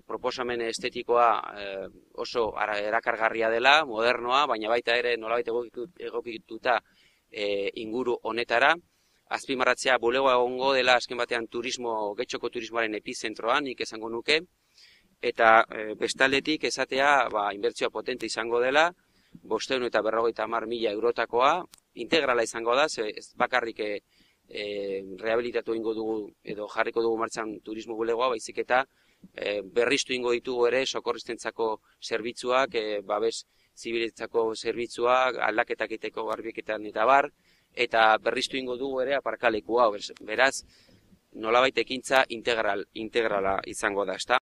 proposamen estetikoa oso erakargarria dela, modernoa, baina baita ere nolabait egokituta inguru honetara. Azpimarratzea bulegoa egongo dela azken batean getxoko turismoaren epizentroan, nik esango nuke, eta bestaldetik esatea inbertsioa potente izango dela, 550.000 eurotakoa, integrala izango da, ez bakarrik rehabilitatu ingo dugu edo jarriko dugu martxan turismo bulegoa, baizik eta berriztu ingo ditugu ere sokorristentzako zerbitzuak, babes zibiletzako zerbitzuak, aldaketak egiteko garbiketan eta bar, eta berriztu ingo dugu ere aparkalekua, beraz, nolabait ekintza integrala izango da, ezta?